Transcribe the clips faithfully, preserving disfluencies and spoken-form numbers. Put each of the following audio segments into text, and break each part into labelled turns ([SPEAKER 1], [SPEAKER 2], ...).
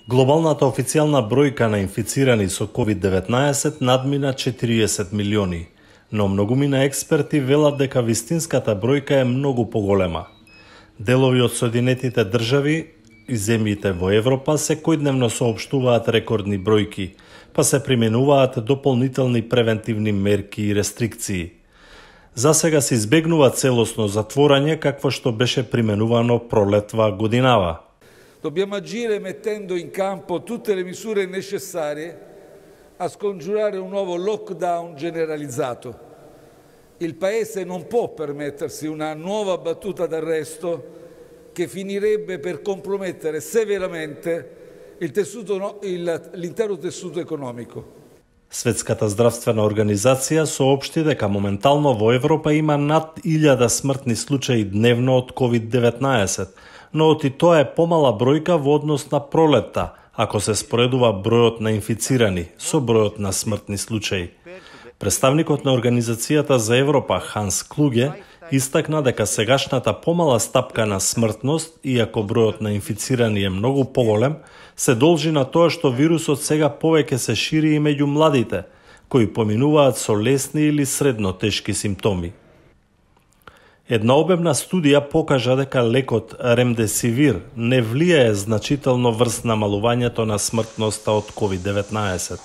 [SPEAKER 1] Глобалната официјална бројка на инфицирани со ковид деветнаесет надмина четириесет милиони, но многумина експерти велат дека вистинската бројка е многу поголема. Делови од Соединетите држави и земјите во Европа секојдневно соопштуваат рекордни бројки, па се применуваат дополнителни превентивни мерки и рестрикции. За сега се избегнува целосно затворање какво што беше применувано пролетва годинава.
[SPEAKER 2] Dobbiamo agire mettendo in campo tutte le misure necessarie a scongiurare un nuovo lockdown generalizzato. Il Paese non può permettersi una nuova battuta d'arresto che finirebbe per compromettere severamente il tessuto, il, l'intero tessuto economico.
[SPEAKER 1] Светската здравствена организација соопшти дека моментално во Европа има над илјада смртни случаи дневно од ковид деветнаесет, но оти тоа е помала бројка во однос на пролетта, ако се споредува бројот на инфицирани со бројот на смртни случаи. Представникот на Организацијата за Европа Ханс Клуге истакна дека сегашната помала стапка на смртност, иако бројот на инфицирани е многу поголем, се должи на тоа што вирусот сега повеќе се шири и меѓу младите, кои поминуваат со лесни или средно тешки симптоми. Една обемна студија покажа дека лекот ремдесивир не влијае значително врз намалувањето на смртноста од ковид деветнаесет.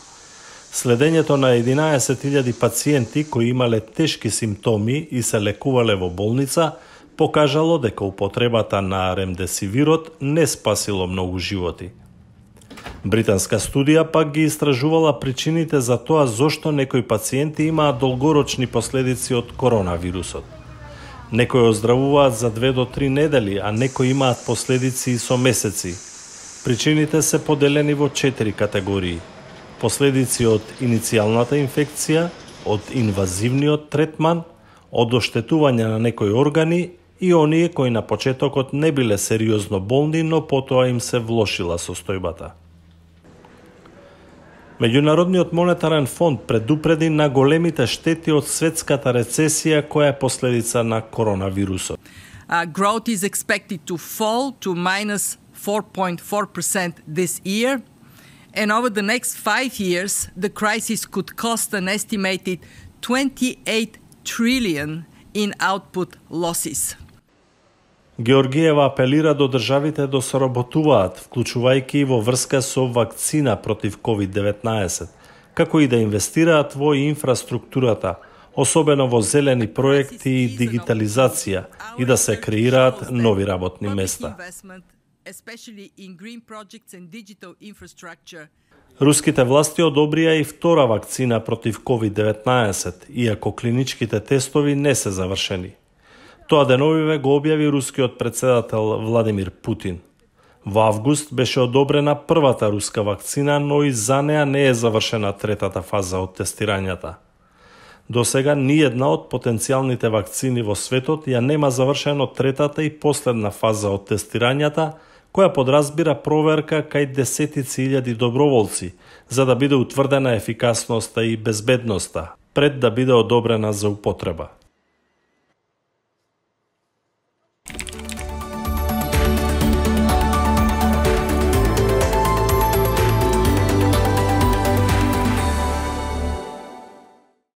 [SPEAKER 1] Следењето на единаесет илјади пациенти кои имале тешки симптоми и се лекувале во болница покажало дека употребата на ремдесивирот не спасило многу животи. Британска студија пак ги истражувала причините за тоа зошто некои пациенти имаат долгорочни последици од коронавирусот. Некои оздравуваат за две до три недели, а некои имаат последици и со месеци. Причините се поделени во четири категории. Последици од иницијалната инфекција, од инвазивниот третман, од оштетување на некои органи и оние кои на почетокот не биле сериозно болни, но потоа им се влошила состојбата. Меѓународниот монетарен фонд предупреди на големите штети од светската рецесија која е последица на коронавирусот.
[SPEAKER 3] Uh, growth is expected to fall to minus four point four percent this year, and over the next five years, the crisis could cost an estimated twenty-eight trillion in output losses.
[SPEAKER 1] Георгиева апелира до државите да соработуваат, вклучувајќи и во врска со вакцина против ковид деветнаесет, како и да инвестираат во инфраструктурата, особено во зелени проекти и дигитализација, и да се креираат нови работни места. Руските власти одобрија и втора вакцина против ковид деветнаесет, иако клиничките тестови не се завршени. Тоа деновиве го објави рускиот претседател Владимир Путин. Во август беше одобрена првата руска вакцина, но и за неа не е завршена третата фаза од тестирањата. До сега ниедна од потенцијалните вакцини во светот ја нема завршено третата и последна фаза од тестирањата, која подразбира проверка кај десетици илјади доброволци, за да биде утврдена ефикасноста и безбедноста, пред да биде одобрена за употреба.